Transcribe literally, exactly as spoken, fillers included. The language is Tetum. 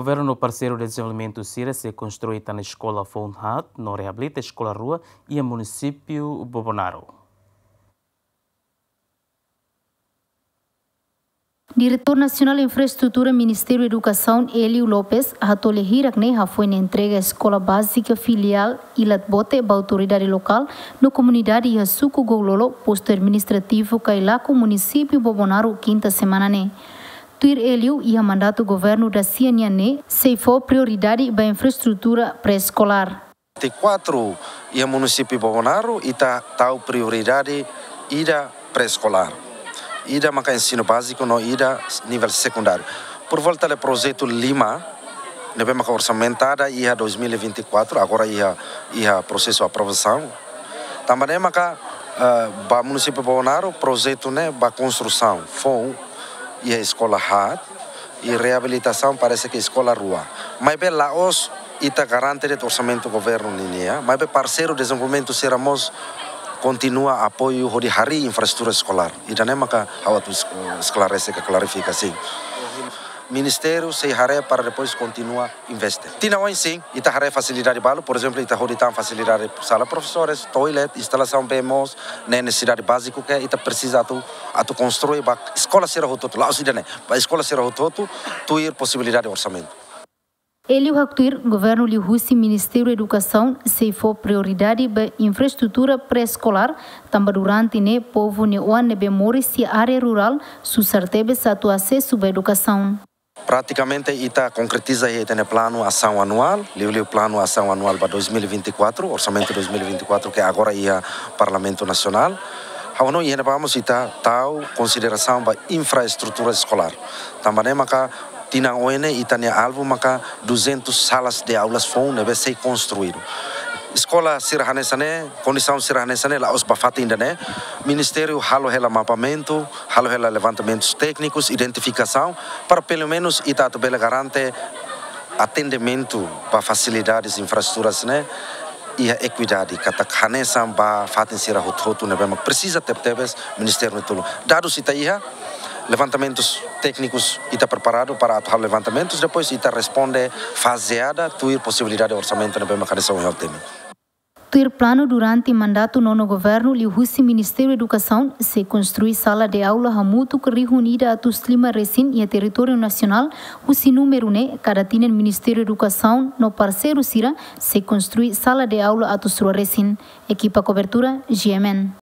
Governu no parseiru dezenvolvimentu sira sei konstrui tan eskola foun haat no reabilita eskola rua iha munisípiu Bobonaro. Diretór Nasionál Infraestrutura Ministériu Edukasaun, Hélio Lopes, hato'o lia hirak ne'e hafoin entrega eskola bázika filiál Ilat Bote ba autoridade lokál no komunidade iha suku Goulolo, postu administrativu Kailaku, munisípiu Bobonaro, kinta semana ne'e. Tuir Hélio, iha mandatu governu dasia nian ne'e, sei fó prioridade ba infraestrutura pré-eskolár. Vinte e quatro, iha munisípiu Bobonaro, ita tau prioridade ida pré-eskolár. Ida maka ensinu báziku no ida nivel sekundáriu. Por volta de projetu lima, ne'ebé maka orsamentada iha dois mil e vinte e quatro, agora iha, iha prosesu aprovasaun. Tanba ne'e maka, eh, ba munisípiu Bobonaro, projetu ne'e ba konstrusaun foun iha eskola haat, i reabilitasaun parese ke eskola rua. Maibé la'ós ita garante de'it orsamentu governu ninia, maibé parseiru dezenvolvimentu sira mós kontinua apoiu hodi harii infraestrutura eskolár. Ida-ne'e maka ha'u atu es-, esklarese ka klarifika, sin. Ministériu sei haree para depois kontinua investe. Tinan oin, sin, ita haree fasilidade balu, por ezemplu, ita hodi tan fasilidade sala profesores, toilet, instalasaun bee moos, ne'e nesesidade báziku ke ita presiza atu, atu konstrui ba eskola sira hotu-hotu, la'ós ida-ne'e, ba eskola sira hotu-hotu, tuir posibilidade orsamentu. Hélio haktuir, governu liuhusi Ministériu Edukasaun sei fó prioridade ba infraestrutura pré-eskolár, tanba durante ne'e povu nia oan ne'ebé moris iha área rurál susar tebes atu asesu ba edukasaun. Pratikamente ita konkretiza iha ita-nia planu asaun anuál, liuliu planu asaun anuál ba dois mil e vinte e quatro, orsamentu dois mil e vinte e quatro ke agora iha Parlamentu Nasionál. Ha'u hanoin iha ne'ebá mós ita tau konsiderasaun ba infraestrutura eskolár. Tanba ne'e maka tinan oin ne'e ita-nia alvu maka duzentas salas de aulas foun ne'ebé sei konstruídu. Eskola sira hanesan ne'e, kondisaun sira hanesan ne'e, la'ós ba fatin ida-ne'e, Ministériu halo hela mapamentu, halo hela levantamentus téknikus, identifikasaun, para pelumenus ita atu bele garante atendimentu ba fasilidades infraestruturas ne'e iha ekuidade, katak hanesan ba fatin sira hotu-hotu ne'ebé mak presiza tebetebes Ministériu nia tulun. Dadus ita iha, levantamentus téknikus ita preparadu para atu halo levantamentus, depois ita responde fazeada, tuir posibilidade orsamentu ne'ebé mak hanesan ohin ha'u temi. Tuir planu, durante mandatu nono governu, liuhusi Ministériu Edukasaun, sei konstrui sala de aula hamutuk rihun ida atus lima resin iha territóriu nasionál, husi númeru ne'e, kada tinan Ministériu Edukasaun no parseiru sira sei konstrui sala de aula atus rua resin. Ekipa kobertura, G M N.